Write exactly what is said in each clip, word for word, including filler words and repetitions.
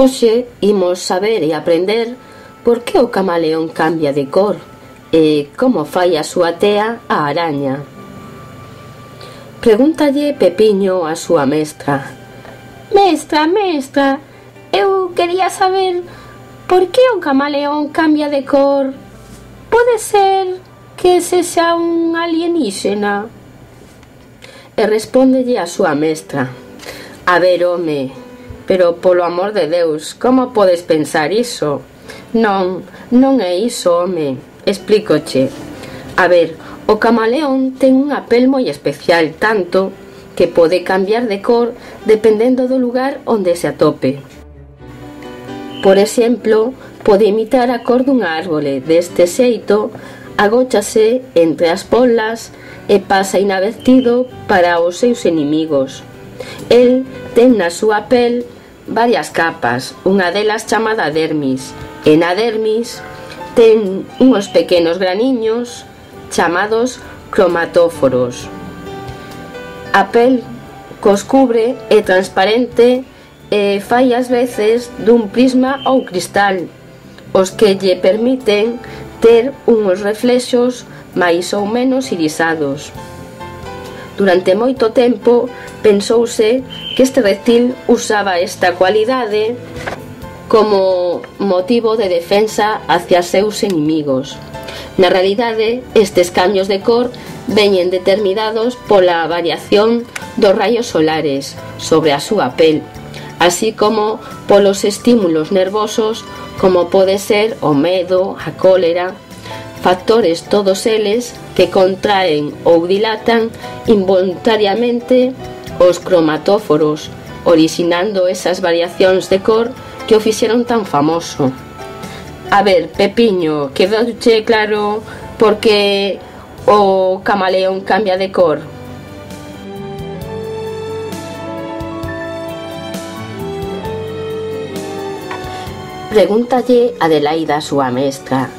Hoxe imos saber e aprender por que o camaleón cambia de cor e como fai a súa tea a araña. Pregúntalle Pepiño a súa mestra: Mestra, mestra, eu quería saber por que o camaleón cambia de cor. Pode ser que sexa un alienígena? E respóndelle a súa mestra: A ver, home, pero polo amor de Deus, como podes pensar iso? Non, non é iso, home, explícoche. A ver, o camaleón ten unha pel moi especial, tanto que pode cambiar de cor dependendo do lugar onde se atope. Por exemplo, pode imitar a cor dunha árbore. Deste xeito, agóchase entre as polas e pasa inadvertido para os seus inimigos. El ten na súa pel varias capas, unha delas chamada dermis, e na dermis ten unhos pequenos graniños chamados cromatóforos. A pel cos cubre é transparente e fai ás veces dun prisma ou cristal, os que lle permiten ter unhos reflexos máis ou menos irisados. Durante moito tempo pensouse que este reptil usaba esta cualidade como motivo de defensa hacia seus inimigos. Na realidade, estes cambios de cor veñen determinados pola variación dos raios solares sobre a súa pel, así como polos estímulos nervosos como pode ser o medo, a cólera, factores todos eles que contraen ou dilatan involuntariamente os cromatóforos, orixinando esas variacións de cor que o fixeron tan famoso. A ver, Pepiño, quedouche claro por que o camaleón cambia de cor? Pregúntalle Adelaida a súa mestra: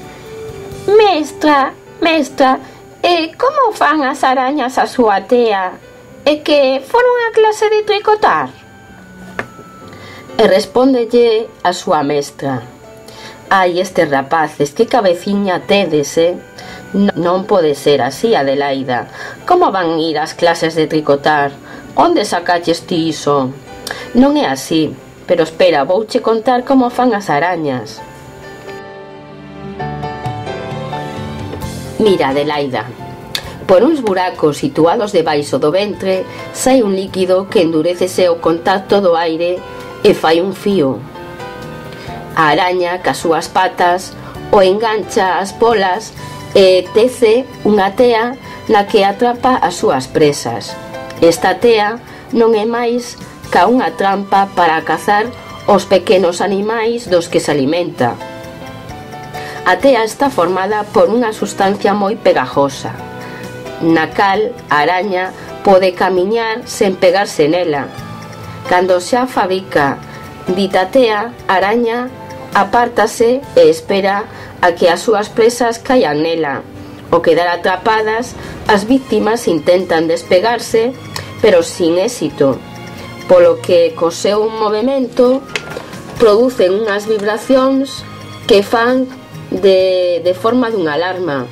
Mestra, mestra, e como fan as arañas a súa tea? É que foron a clase de tricotar? E respóndelle a súa mestra: Ai, estes rapaces, que cabeciña tedes, eh? Non pode ser así, Adelaida. Como van ir ás clases de tricotar? Onde sacaches ti iso? Non é así, pero espera, vouche contar como fan as arañas. Mira, Adelaida, por uns buracos situados debaixo do ventre sai un líquido que endurécese ao contacto do aire e fai un fío. A araña, cas súas patas, o engancha as polas e tece unha tea na que atrapa as súas presas. Esta tea non é máis ca unha trampa para cazar os pequenos animais dos que se alimenta. A tea está formada por unha sustancia moi pegajosa, na cal a araña pode camiñar sen pegarse nela. Cando xa fabrica dita tea, a araña apártase e espera a que as súas presas caian nela. Ao quedar atrapadas, as víctimas intentan despegarse, pero sin éxito, polo que co seu movemento producen unhas vibracións que fan de, de forma dunha alarma,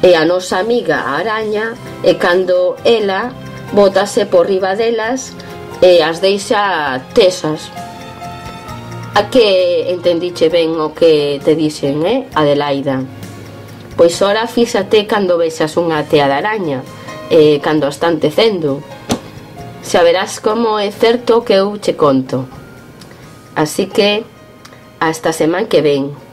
e a nosa amiga a araña, e cando ela bótase por riba delas e as deixa tesas. A que entendiche ben o que te dixen, eh, Adelaida? Pois ora fíxate cando vexas unha tea de araña e cando a están tecendo. Xa verás como é certo que eu che conto. Así que hasta semana que ven.